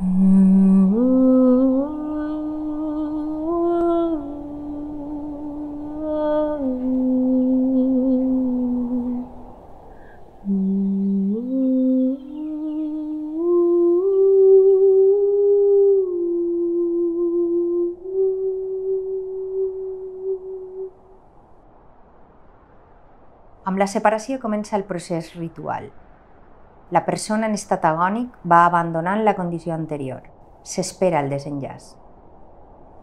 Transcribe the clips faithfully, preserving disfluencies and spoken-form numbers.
Amb la separació comença el procés ritual. La persona en estat agònic va abandonant la condició anterior. S'espera el desenllaç.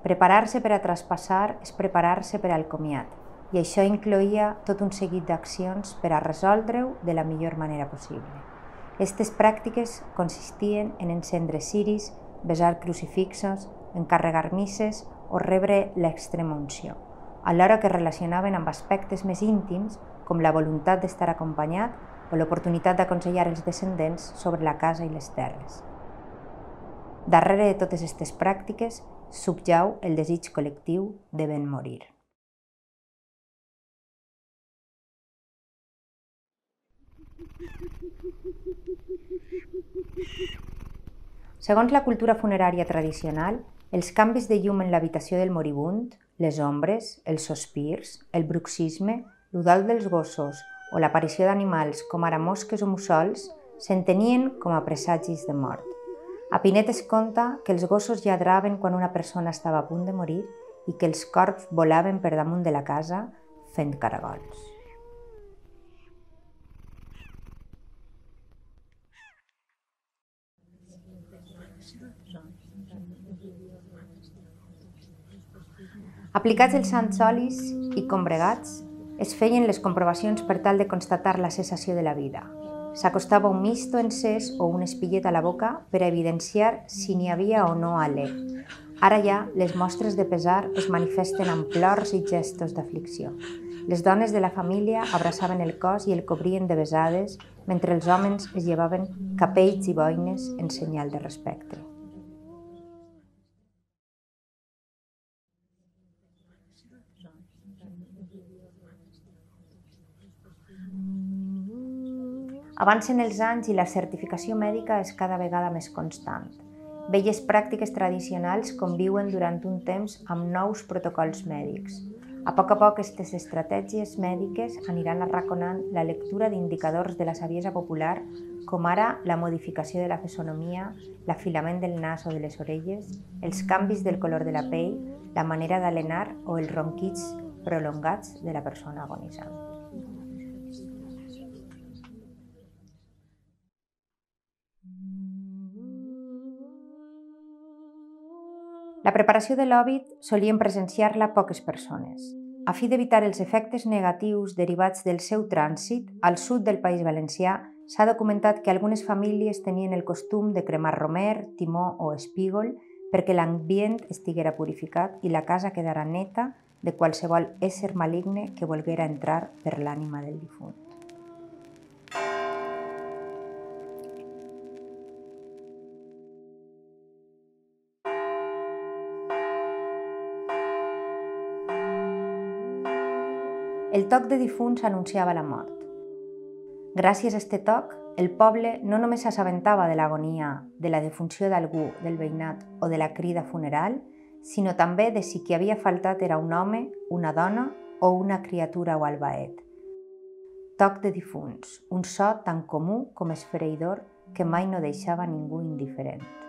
Preparar-se per a traspassar és preparar-se per al comiat, i això incloïa tot un seguit d'accions per a resoldre-ho de la millor manera possible. Aquestes pràctiques consistien en encendre ciris, besar crucifixos, encarregar misses o rebre l'extrema unció, alhora que es relacionaven amb aspectes més íntims com la voluntat d'estar acompanyat o l'oportunitat d'aconsellar els descendents sobre la casa i les terres. Darrere de totes aquestes pràctiques subjau el desig col·lectiu de ben morir. Segons la cultura funerària tradicional, els canvis de llum en l'habitació del moribund, les ombres, els sospirs, el bruxisme, l'udol dels gossos o l'aparició d'animals com ara mosques o mussols s'entenien com a presagis de mort. A Pinet es conta que els gossos lladraven quan una persona estava a punt de morir i que els corbs volaven per damunt de la casa fent caragols. Aplicats els sants olis i combregats, es feien les comprovacions per tal de constatar la cessació de la vida. S'acostava un misto encès o un espillet a la boca per a evidenciar si n'hi havia o no alè. Ara ja, les mostres de pesar es manifesten amb plors i gestos d'aflicció. Les dones de la família abraçaven el cos i el cobrien de besades, mentre els homes es llevaven capells i boines en senyal de respecte. Avancen els anys i la certificació mèdica és cada vegada més constant. Velles pràctiques tradicionals conviuen durant un temps amb nous protocols mèdics. A poc a poc, aquestes estratègies mèdiques aniran arraconant la lectura d'indicadors de la saviesa popular, com ara la modificació de la fisonomia, l'afilament del nas o de les orelles, els canvis del color de la pell, la manera d'alenar o els ronquits prolongats de la persona agonitzant. La preparació de l'òbit solien presenciar-la poques persones. A fi d'evitar els efectes negatius derivats del seu trànsit, al sud del País Valencià s'ha documentat que algunes famílies tenien el costum de cremar romer, timó o espígol perquè l'ambient estiguera purificat i la casa quedara neta de qualsevol ésser maligne que volguera entrar per l'ànima del difunt. El toc de difunts anunciava la mort. Gràcies a este toc, el poble no només s'assabentava de l'agonia, de la defunció d'algú, del veïnat o de la crida funeral, sinó també de si qui havia faltat era un home, una dona o una criatura o albaet. Toc de difunts, un so tan comú com esfereïdor que mai no deixava ningú indiferent.